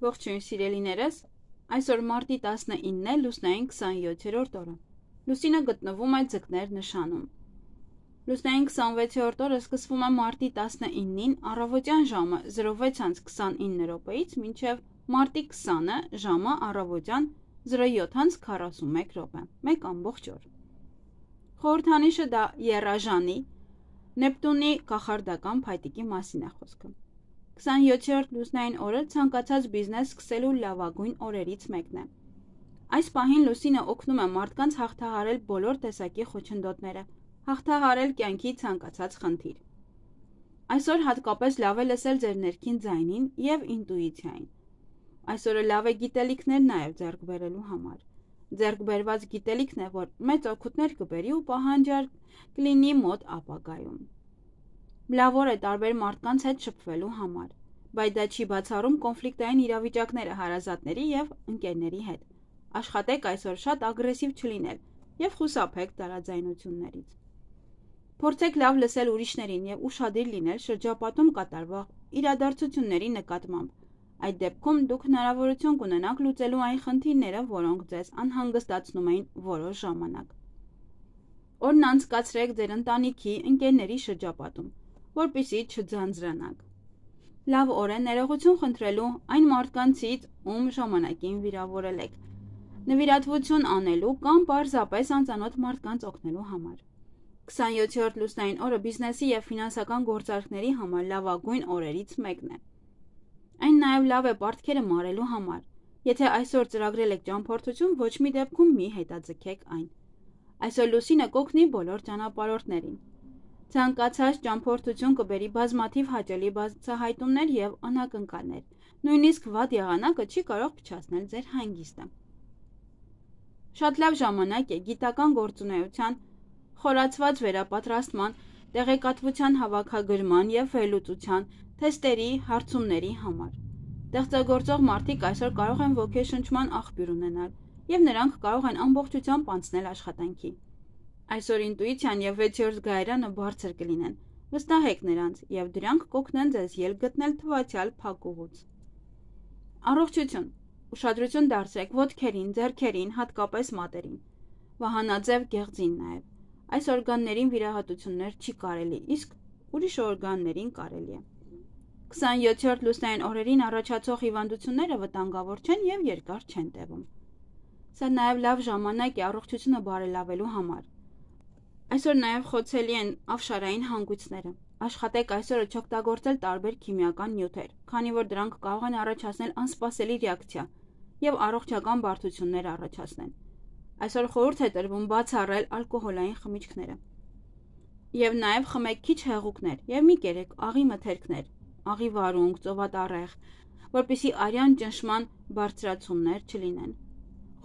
Ողջույն սիրելիներս, այսօր մարտի 19-ն է, լուսնային 27-րդ օրը։ Լուսինը գտնվում է ձկներ նշանում։ Լուսնային 26-րդ օրը սկսվում է մարտի 19-ին առավոտյան ժամը 06:29 րոպեից մինչև մարտի 20-ը ժամը առավոտյան 07:41 րոպե, 1 ամբողջ օր։ Խորհրդանիշը դա եռաժանի, Նեպտունի կախարդական փայտիկի մասին է խոսքը։ 27-րդ լուսնային օրը ցանկացած բիզնես սկսելու լավագույն օրերից մեկն է։ Այս պահին լուսինը օգնում է մարդկանց հաղթահարել բոլոր տեսակի խոչընդոտները, հաղթահարել կյանքի ցանկացած խնդիր։ Այսօր հատկապես լավ է լսել ձեր ներքին ձայնին եւ ինտուիցիային։ Այսօրը լավ է գիտելիքներ նաեւ ձեռք բերելու համար։ Ձեռք բերված գիտելիքն է, որ մեծ օգուտներ կբերի ու պահանջարկ կլինի մոտ ապագայում։ Լավ օր է տարբեր մարդկանց հետ շփվելու համար, բայց դա չի բացառում կոնֆլիկտային իրավիճակները հարազատների եւ ընկերների հետ։ Աշխատեք այսօր շատ ագրեսիվ չլինել եւ խուսափեք տարաձայնություններից։ Փորձեք լավ լսել ուրիշներին եւ ուշադիր լինել շրջապատում կատարվող իրադարձությունների նկատմամբ։ Այդ դեպքում դուք հնարավորություն կունենաք լուծելու այն խնդիրները, որոնք ձեզ անհանգստացնում էին որոշ ժամանակ։ Օրն անցկացրեք ձեր ընտանիքի, ընկերների շրջապատում, որպեսզի չձանձրանաք։ Լավ օր է ներողություն խնդրելու այն մարդկանցից, ում ժամանակին վիրավորել եք, նվիրատվություն անելու կամ պարզապես անծանոթ մարդկանց օգնելու համար։ 27-րդ լուսնային օրը բիզնեսի եւ ֆինանսական գործարքների համար լավագույն օրերից մեկն է։ Այն նաեւ լավ է պարտքերը մարելու համար։ Եթե այսօր ծրագրել եք ճամփորդություն, ոչ մի դեպքում մի հետաձգեք այն։ Այսօր լուսինը կօգնի բոլոր ճանապարհորդներին։ Ցանկացած ճամփորդություն կբերի բազմաթիվ հաճելի բացահայտումներ եւ անակնկալներ։ Նույնիսկ վատ եղանակը չի կարող փչացնել ձեր հանգիստը։ Շատ լավ ժամանակ է գիտական գործունեության, խորացված վերապատրաստման, տեղեկատվության հավաքագրման եւ վերլուծության, թեստերի, հարցումների համար։ Ստեղծագործող մարդիկ այսօր կարող են ոգեշնչման աղբյուր ունենալ եւ նրանք կարող են ամբողջությամբ անցնել աշխատանքի։ Այսօր ինտուիցիան եւ 6-րդ գայարանը բարձր կլինեն։ Վստահեք նրանց եւ դրանք կօգնեն ձեզ ելք գտնել թվացial փակուղուց։ Առողջություն։ Ուշադրություն դարձրեք ոտքերին, ձեռքերին, հատկապես մատերին։ Վահանաձև գեղձին նաեւ։ Այս օրգաններին վիրահատություններ չի կարելի, իսկ ուրիշ օրգաններին կարելի է։ 27-րդ լուսնային օրերին առաջացող հիվանդությունները վտանգավոր չեն եւ երկար չեն տևում։ Սա նաեւ լավ ժամանակ է առողջությունը բարելավելու համար։ Այսօր նաեւ խոցելի են ավշարային հանգույցները։ Աշխատեք այսօրը չօգտագործել տարբեր քիմիական նյութեր, քանի որ դրանք կարող են առաջացնել անսպասելի ռեակցիա եւ առողջական բարդություններ առաջացնեն։ Այսօր խորհուրդ է տրվում բացառել ալկոհոլային խմիչքները։ Եվ նաեւ խմեք քիչ հեղուկներ եւ մի կերեք աղի մթերքներ, աղի վարունգ, ծովատառեղ, որպեսզի արյան ճնշման բարձրացումներ չլինեն։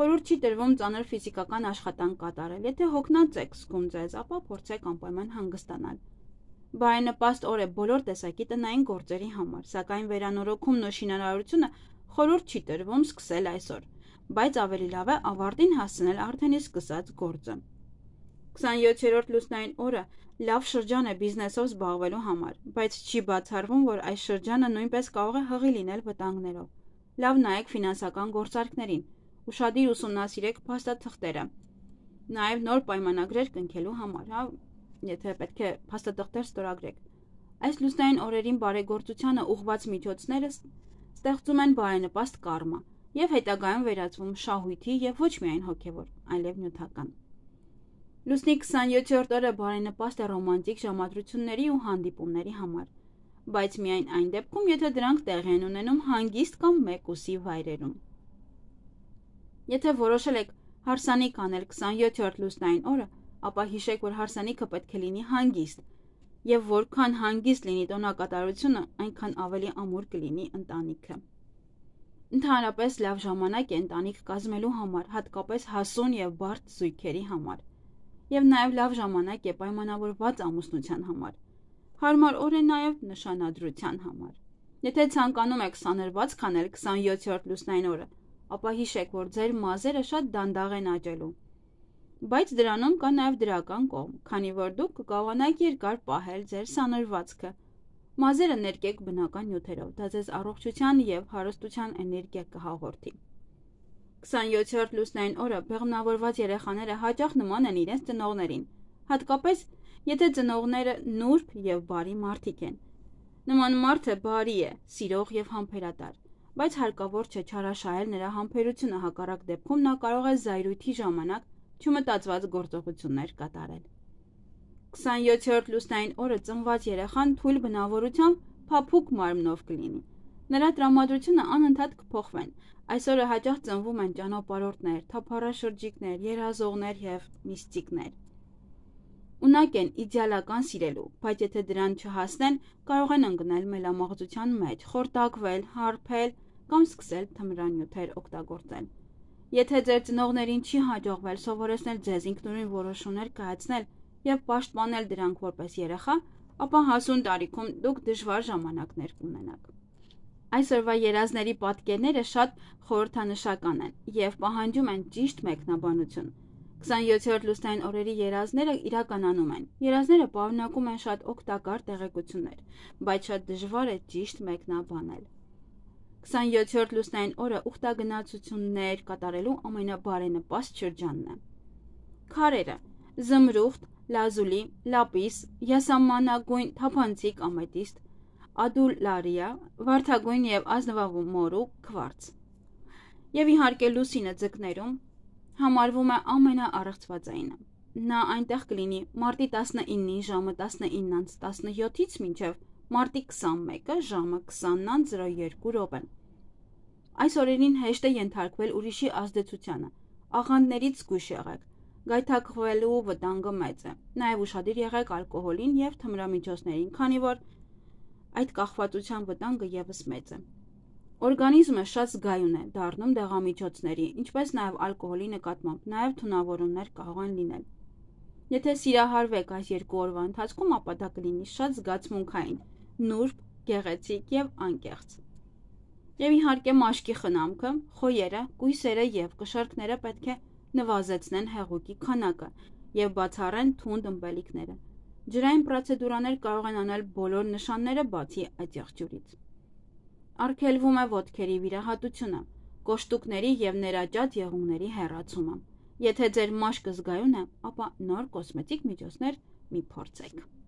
Խորհուրդ չի տրվում ծանր ֆիզիկական աշխատանք կատարել, եթե հոգնած եք զգում ձեզ, ապա փորձեք անպայման հանգստանալ։ Բարենպաստ օր է բոլոր տեսակի տնային գործերի համար, սակայն վերանորոգումն ու շինարարությունը խորհուրդ չի տրվում սկսել այսօր, բայց ավելի լավ է ավարտին հասցնել արդեն իսկ սկսած գործը։ 27-րդ լուսնային օրը լավ շրջան է բիզնեսով զբաղվելու համար, բայց չի բացառվում, որ այս շրջանը նույնպես կարող է հղի լինել վտանգներով։ Լավ նայեք ֆինանսական գործարքներին, ուշադիր ուսումնասիրեք փաստաթղթերը, նաև նոր պայմանագրեր կնքելու համար, եթե պետք է փաստաթղթեր ստորագրեք։ Այս լուսնային օրերին բարեգործությանը ուղղված միջոցները ստեղծում են բարենպաստ կարմա եւ հետագայում վերածվում շահույթի եւ ոչ միայն հոգեվոր, այլև նյութական։ Լուսնի 27-րդ օրը բարենպաստ է ռոմանտիկ ժամադրությունների ու հանդիպումների համար, բայց միայն այն դեպքում, եթե դրանք տեղի են ունենում հանգիստ կամ մեկուսի վայրերում։ Եթե որոշել եք հարսանիք անել 27-րդ լուսնային օրը, ապա հիշեք, որ հարսանիքը պետք է լինի հանգիստ, եւ որքան հանգիստ լինի տոնակատարությունը, այնքան ավելի ամուր կլինի ընտանիքը։ Ընդհանրապես լավ ժամանակ է ընտանիք կազմելու համար, հատկապես հասուն եւ բարդ զույգերի համար, եւ նաեւ լավ ժամանակ է պայմանավորված ամուսնության համար։ Հարմար օր է նաեւ նշանադրության համար։ Եթե ցանկանում եք սանրված քանել 27-րդ լուսնային օրը, ապա հիշեք, որ ձեր մազերը շատ դանդաղ են աճելու։ Բայց դրանում կա նաև դրական կողմ, քանի որ դուք կկարողանաք երկար պահել ձեր սանրվածքը Մազերը ներկեք բնական նյութերով, դա ձեզ առողջության և հարստության էներգիա կհաղորդի։ 27-րդ լուսնային օրը բեղմնավորված երեխաները հաճախ նման են իրենց ծնողներին, հատկապես եթե ծնողները նուրբ և բարի մարդիկ են։ Նման մարդը բարի է, սիրող և համբերատար, բայց հարկավոր չէ չարաշահել նրա համբերությունը, հակառակ դեպքում նա կարող է զայրույթի ժամանակ չմտածված գործողություններ կատարել։ 27-րդ լուսնային օրը ծնված երեխան թույլ բնավորությամբ փափուկ մարմնով կլինի։ Նրա տրամադրությունը անընդհատ կփոխվեն։ Այս օրը հաճախ ծնվում են ճանապարհորդներ, թափառաշրջիկներ, երազողներ և միստիկներ։ Ունակ են իդեալական սիրելու, բայց եթե դրան չհասնեն, կարող են ընկնել մելամաղձության մեջ, խորտակվել, հարբել կամ սկսել թմրանյութեր օգտագործել։ Եթե ձեր ծնողներին չի հաջողվել սովորեցնել ձեզ ինքնուրույն որոշումներ կայացնել և պաշտպանել դրանք որպես երեխա, ապա հասուն տարիքում դուք դժվար ժամանակներ կունենաք։ Այսօրվա երազների պատկերները շատ խորհրդանշական են և պահանջում են ճիշտ մեկնաբանություն։ 27-րդ լուսնային օրերի երազները իրականանում են։ Երազները պարունակում են շատ օգտակար տեղեկություններ, բայց շատ դժվար է ճիշտ մեկնաբանել։ 27-րդ լուսնային օրը ուխտագնացություններ կատարելու ամենաբարենպաստ շրջանն է։ Քարերը՝ զմրուխտ, լազուլի, լապիս, յասամանագույն թափանցիկ ամետիստ, ադուլարիա, վարդագույն և ազնվամորու քվարց։ Եվ իհարկե լուսինը ձկներում համարվում է ամենաառեղծվածայինը։ Նա այնտեղ կլինի մարտի 19-ի ժամը 19:17-ից մինչև մարտի 21-ը ժամը 20:02։ Այս օրերին հեշտ է ենթարկվել ուրիշի ազդեցությանը, աղանդներից զգույշ եղեք, գայթակղվելու վտանգը մեծ է, նաև ուշադիր եղեք ալկոհոլին և թմրամիջոցներին, քանի որ այդ կախվածության վտանգը ևս մեծ է։ Օրգանիզմը շատ զգայուն է դառնում դեղամիջոցների, ինչպես նաև ալկոհոլի նկատմամբ, նաև թունավորումներ կարող են լինել։ Եթե սիրահարվեք այս 2 օրվա ընթացքում, ապա դա կլինի շատ զգացմունքային, նուրբ, գեղեցիկ և անկեղծ։ Եվ իհարկե մաշկի խնամքը, խոյերը, կույսերը և կշեռքները պետք է նվազեցնեն հեղուկի քանակը և բացառեն թունդ ըմպելիքները։ Ջրային պրոցեդուրաներ կարող են անել բոլոր նշանները բացի այդ եղջյուրից։ Արգելվում է ոտքերի վիրահատությունը, կոշտուկների և ներաճած եղունգների հեռացումը։ Եթե ձեր մաշկը զգայուն է, ապա նոր կոսմետիկ միջոցներ մի փորձեք։